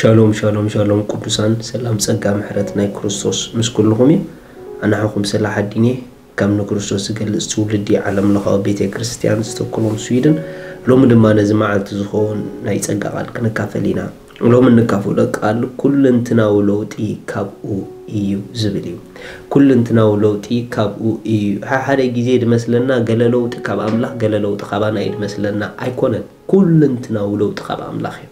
ሻሎም ሻሎም ሻሎም ቅዱሳን፣ ሰላም ጸጋ ምሕረት ናይ ክርስቶስ ምስ ኩልኹም እዩ። ኣናሕኹም ስለ ሓዲኔ ከም ንክርስቶስ ዝገልጽ ትውልዲ ዓለም ለኻዊ ቤተ ክርስቲያን ዝተክሎም ስዊድን። ሎሚ ድማ ነዚ መዓልቲ ዝኸውን ናይ ጸጋ ቃል ክንካፈል ኢና። ሎሚ እንካፈሎ ቃል ኩለንትናዊ ለውጢ ካብኡ እዩ ዝብል እዩ። ኩለንትናዊ ለውጢ ካብኡ እዩ። ሓደ ሓደ ግዜ ድመስለና ገለ ለውጢ ካብ ኣምላኽ፣ ገለ ለውጢ ካባና እዩ ድመስለና። ኣይኮነን። ኩለንትናዊ ለውጢ ካብ ኣምላኽ እዩ።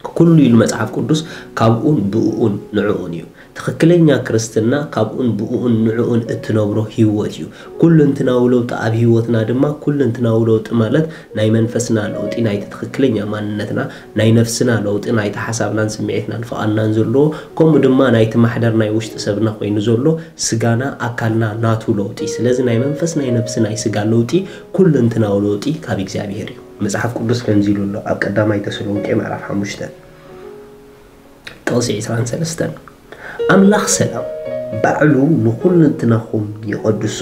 ኩሉ ኢሉ መጽሓፍ ቅዱስ ካብኡን ብእኡን ንዕኡን እዩ። ትኽክለኛ ክርስትና ካብኡን ብእኡን ንዕኡን እትነብሮ ህይወት እዩ። ኩለንትናዊ ለውጢ ኣብ ህይወትና ድማ፣ ኩለንትናዊ ለውጢ ማለት ናይ መንፈስና ለውጢ፣ ናይቲ ትኽክለኛ ማንነትና፣ ናይ ነፍስና ለውጢ፣ ናይቲ ሓሳብናን ስምዒትናን ፍቓድናን ዘለዎ፣ ከምኡ ድማ ናይቲ ማሕደር ናይ ውሽጢ ሰብና ኮይኑ ዘሎ ስጋና፣ ኣካልና ናቱ ለውጢ። ስለዚ ናይ መንፈስ፣ ናይ ነፍሲ፣ ናይ ስጋ ለውጢ፣ ኩለንትናዊ ለውጢ ካብ እግዚኣብሔር እዩ። መጽሓፍ ቅዱስ ከምዚ ኢሉ ኣሎ ኣብ ቀዳማይ ተሰሎንቄ ምዕራፍ ሓሙሽተ ጥቕሲ ዕስራን ሰለስተን፣ ኣምላኽ ሰላም ባዕሉ ንኹለንትናኹም ይቐድሶ።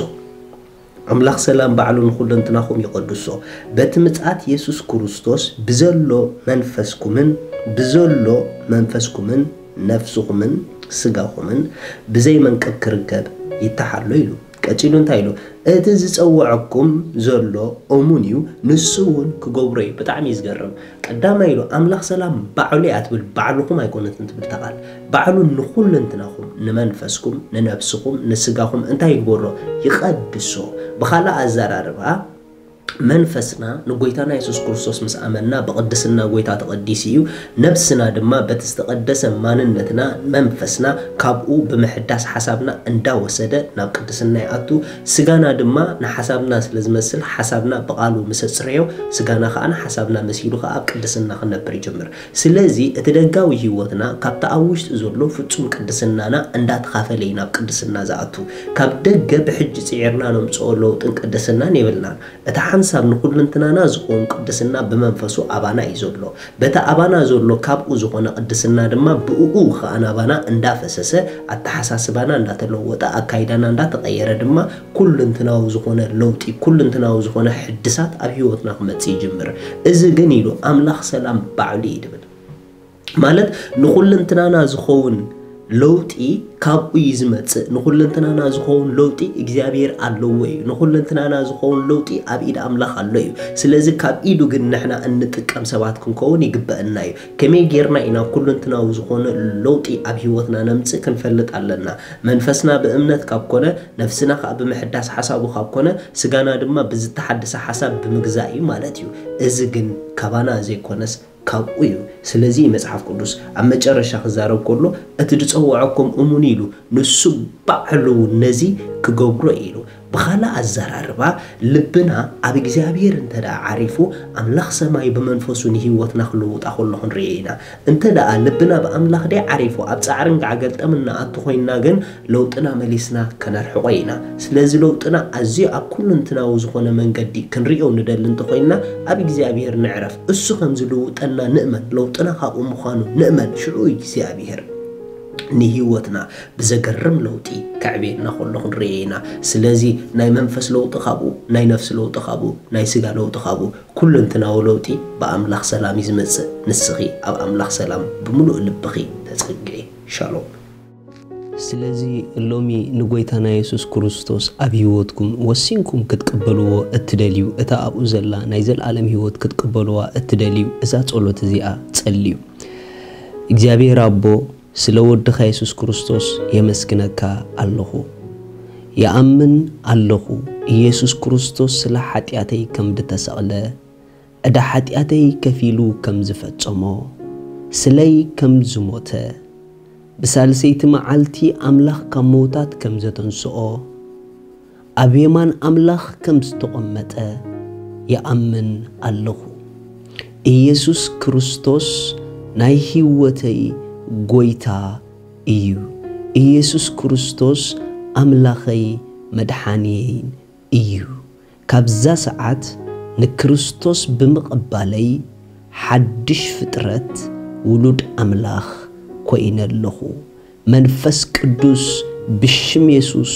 ኣምላኽ ሰላም ባዕሉ ንኹለንትናኹም ይቐድሶ፣ በቲ ምጽኣት የሱስ ክርስቶስ ብዘሎ መንፈስኩምን፣ ብዘሎ መንፈስኩምን ነፍስኹምን ስጋኹምን ብዘይ መንቅብ ክርከብ ይተሓሎ ኢሉ። ቀጺሉ እንታይ ኢሉ? እቲ ዝጸውዐኩም ዘሎ እሙን እዩ፣ ንሱ እውን ክገብሮ እዩ። ብጣዕሚ እዩ ዝገርም። ቀዳማይ ኢሉ ኣምላኽ ሰላም ባዕሉ እያ ትብል፣ ባዕልኹም ኣይኮነትን ትብል እታ ቃል። ባዕሉ ንኹለንትናኹም፣ ንመንፈስኩም፣ ንነብስኹም፣ ንስጋኹም እንታይ ይግበሮ? ይቐድሶ። ብኻልእ ኣዘራርባ መንፈስና ንጎይታና የሱስ ክርስቶስ ምስ ኣመንና ብቕድስና ጎይታ ተቐዲሱ እዩ። ነብስና ድማ በቲ ዝተቐደሰ ማንነትና መንፈስና ካብኡ ብምሕዳስ ሓሳብና እንዳወሰደ ናብ ቅድስና ይኣቱ። ስጋና ድማ ንሓሳብና ስለ ዝመስል ሓሳብና ብቓሉ ምስ ኣጽረዮ ስጋና ከኣ ንሓሳብና መሲሉ ከኣ ኣብ ቅድስና ክነብር ይጅምር። ስለዚ እቲ ደጋዊ ህይወትና ካብቲ ኣብ ውሽጢ ዘሎ ፍጹም ቅድስናና እንዳተኻፈለ እዩ ናብ ቅድስና ዝኣቱ። ካብ ደገ ብሕጂ ጽዒርና ነምጽኦ ለውጥን ቅድስናን የብልናን። እቲ ሓንሳብ ንኹልንትናና ዝኸውን ቅድስና ብመንፈሱ ኣባና እዩ ዘሎ። በቲ ኣባና ዘሎ ካብኡ ዝኾነ ቅድስና ድማ ብእኡ ኸኣ ናባና እንዳፈሰሰ ኣተሓሳስባና እንዳተለወጠ፣ ኣካይዳና እንዳተቐየረ ድማ ኩልንትናዊ ዝኾነ ለውጢ፣ ኩልንትናዊ ዝኾነ ሕድሳት ኣብ ህይወትና ክመጽእ ይጅምር። እዚ ግን ኢሉ ኣምላኽ ሰላም ባዕሉ እዩ ድብል። ማለት ንኹልንትናና ዝኸውን ለውጢ ካብኡ እዩ ዝመጽእ። ንኹልንትናና ዝኸውን ለውጢ እግዚኣብሔር ኣለዎ እዩ። ንኹልንትናና ዝኸውን ለውጢ ኣብ ኢድ ኣምላኽ ኣሎ እዩ። ስለዚ ካብ ኢዱ ግን ንሕና እንጥቀም ሰባት ክንከውን ይግበአና እዩ። ከመይ ጌርና ኢና ኩልንትናዊ ዝኾነ ለውጢ ኣብ ህይወትና ነምጽእ ክንፈልጥ ኣለና። መንፈስና ብእምነት ካብ ኮነ፣ ነፍስና ከኣ ብምሕዳስ ሓሳቡ ካብ ኮነ፣ ስጋና ድማ ብዝተሓደሰ ሓሳብ ብምግዛእ እዩ ማለት እዩ። እዚ ግን ካባና ዘይኮነስ ካብኡ እዩ። ስለዚ መጽሓፍ ቅዱስ ኣብ መጨረሻ ክዛረብ ከሎ፣ እቲ ዝጸውዐኩም እሙን ኢሉ፣ ንሱ ባዕሉ እውን ነዚ ክገብሮ ኢሉ። ብኻልእ ኣዘራርባ፣ ልብና ኣብ እግዚኣብሔር እንተ ደኣ ዓሪፉ፣ ኣምላኽ ሰማይ ብመንፈሱ ንህይወትና ክልውጣ ከሎ ክንርኢ ኢና። እንተ ደኣ ልብና ብኣምላኽ ደይ ዓሪፉ፣ ኣብ ጻዕርን ጋዕገልጠምን ንኣቱ ኮይንና ግን፣ ለውጥና መሊስና ከነርሕቖ ኢና። ስለዚ ለውጥና ኣዝዩ ኣብ ኩልንትናዊ ዝኾነ መንገዲ ክንርእዮ ንደሊ እንተኾይንና፣ ኣብ እግዚኣብሔር ንዕረፍ። እሱ ከም ዝልውጠና ንእመን፣ ለውጥና ካብኡ ምዃኑ ንእመን። ሽዑ እግዚኣብሔር ንህይወትና ብዘገርም ለውጢ ከዕብየና ከሎ ክንርእዮ ኢና። ስለዚ ናይ መንፈስ ለውጢ ካብኡ፣ ናይ ነፍሲ ለውጢ ካብኡ፣ ናይ ስጋ ለውጢ ካብኡ፣ ኩልንትናዊ ለውጢ ብኣምላኽ ሰላም እዩ ዝመጽእ። ንስኺ ኣብ ኣምላኽ ሰላም ብምሉእ ልብኺ ተጸግዒ። ሻሎም። ስለዚ ሎሚ ንጎይታና የሱስ ክርስቶስ ኣብ ህይወትኩም ወሲንኩም ክትቅበልዎ እትደልዩ፣ እታ ኣብኡ ዘላ ናይ ዘልኣለም ህይወት ክትቅበልዋ እትደልዩ፣ እዛ ጸሎት እዚኣ ጸልዩ። እግዚኣብሔር ኣቦ፣ ስለ ወድኻ የሱስ ክርስቶስ የመስግነካ ኣለኹ። ይኣምን ኣለኹ፣ ኢየሱስ ክርስቶስ ስለ ሓጢኣተይ ከም ድተሰቕለ፣ ዕዳ ሓጢኣተይ ከፊሉ ከም ዝፈጸሞ፣ ስለይ ከም ዝሞተ፣ ብሳልሰይቲ መዓልቲ ኣምላኽ ካብ መውታት ከም ዘተንስኦ፣ ኣብ የማን ኣምላኽ ከም ዝተቐመጠ ይኣምን ኣለኹ። ኢየሱስ ክርስቶስ ናይ ህይወተይ ጐይታ እዩ። ኢየሱስ ክርስቶስ ኣምላኸይ መድሓንየይን እዩ። ካብዛ ሰዓት ንክርስቶስ ብምቕባለይ ሓድሽ ፍጥረት ውሉድ ኣምላኽ ኮይነ ኣለኹ። መንፈስ ቅዱስ ብሽም የሱስ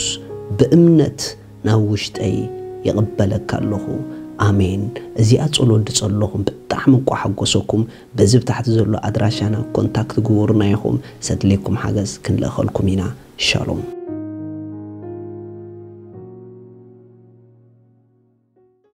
ብእምነት ናብ ውሽጠይ ይቕበለካ ኣለኹ። ኣሜን። እዚኣ ጸሎት ድጸለኹም ብጣዕሚ እንቋ ሓጎሰኩም። በዚ ብታሕቲ ዘሎ ኣድራሻና ኮንታክት ግበሩና ኢኹም። ሰድሌኩም ሓገዝ ክንልእኸልኩም ኢና። ሻሎም።